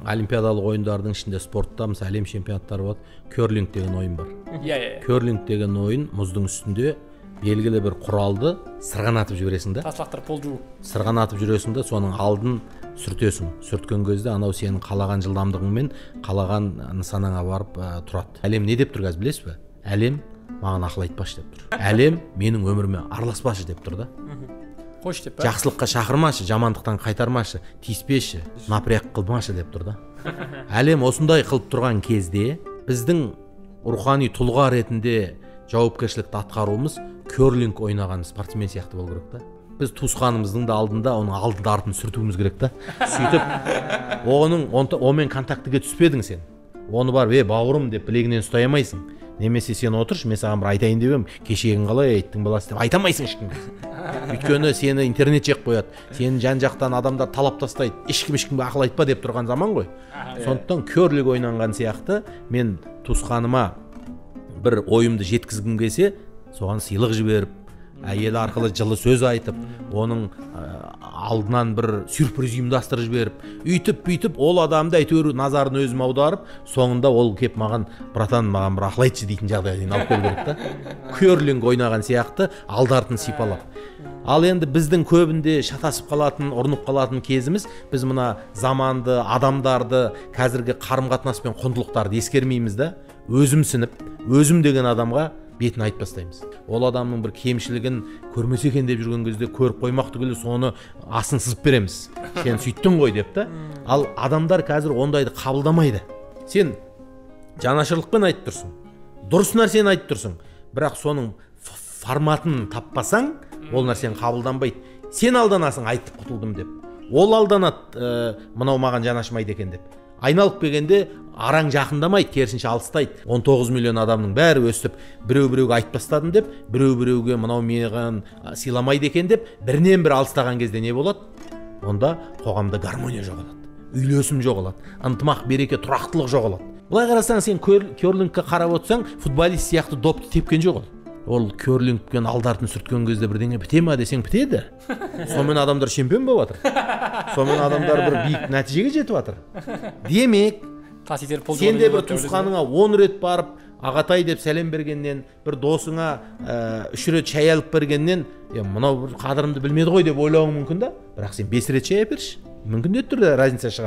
олимпиадалык оюндардын ичинде спортто мисалы әлем чемпионаттары болот. Керлинг деген оюн бар. Керлинг деген оюн муздун үстүндө белгилүү бир куралды сырганатып жибересиң да. Ташлактырып пол жуу. Сырганатып жүрөсүң да, сонун алдын сүртөсүң. Сүрткөн кезде анау сенин каалаган жылдамдыгың менен каалаган нысанаңа барып турат. Әлем не деп тур азыр билесизби? Әлем мага акыл айтпашы деп тур. Әлем менин өмүрүмө араласпашы деп тур да. Кош деп. Жакшылыкка чакырмашы, жамандыктан кайтармашы, тийиспеши, напряг кылмашы деп тур да. Әлем осундай кылып турган кезде биздин руханий тулга ретинде жоопкерчиликти аткаруубуз керлинг ойнаган спортсмен сыяктуу болуу керек да. Биз туусканыбыздын да алдында анын алдын артын сүртүүбүз керек да. Сүйтүп о менен контактыга түспедиң сен. Оны барып бауырым деп билегинен устай алмайсың. Немесе сен отурчу, мен сага бир айтайын дебем, кечегиң калай айттың баласы деп айта алмайсың эч кимге. Өйткөнү сени интернет жеп коет. Сени жан жактан адамдар талап тастайт. Эч кимге акыл айтпа деп турган заман гой. Сондуктан керлинг ойнанган сыяктуу мен туусканыма бир оюмду жеткизгим келсе, соган сыйлык жиберип, эл аркылуу жылы сөз айтып, онун алдынан бир сюрприз уюмдастырып жиберип, үйтүп ол адамды әйтеуір назарын өзүмө аударып, соңунда ол кеп маган братан маган бир акыл айтчы дейтин жагдайга алып келип керек да. Керлинг ойнаган сыяктуу алдартын сыйпалап. Ал энди биздин көбүндө шатасып калатын, урнуп калатын кезибиз, биз мына заманды, адамдарды, казирги карым-катнаш менен кондулуктарды эскермейбиз да. Өзүмсүнүп, өзүм деген адамга бетин айтып тастайбыз. Ол адамдын бир кемчилигин көрмөсө экен деп жүргөн кезде көрүп коймактуу келип, сону асын сызып беребиз. Сен сөйттүң ғой деп да. Ал адамдар казир ондайды кабылдамайды. Сен жанашырлык менен айтып турсуң. Дурус нерсени айтып турсуң. Бирок сонун форматын таппасаң, ол нерсени кабылданбайт. Сен алданасың айтып кутулдум деп. Ол алданат, мынау маган жанашмайт экен деп. Айналып келгенде араң жакындамайт, керисинче алыстайт. 19 миллион адамдын баары өстүп, бирөө-бирөөгө айтып тастадым деп, бирөө-бирөөгө мынау мени сыйламайт экен деп, биринен бири алыстаган кезде не болот? Онда когамда гармония жоголот. Үйлөсүм жоголот. Ынтымак, береке, турактылык жоголот. Булай карасаң, сен керлингке карап отсаң, футболист сыяктуу допты тепкен жок ол. Ол керлингкен алдартын сүрткөн кезде бирдеңе битеме десең битеди. Сонун менен адамдар чемпион болуп атыр. Сонун менен адамдар бир бийик натижеге жетип атыр. Демек, сен де бир туусканыңа 10 рет барып, агатай деп салем бергенден, бир досуңа 3 рет чай алып бергенден, мынау бир кадырымды билмеди ғой деп ойлооң мүмкүн да. Бирок сен 5 рет чай алып берчи. Мүмкүн деп тур да разница чыгат.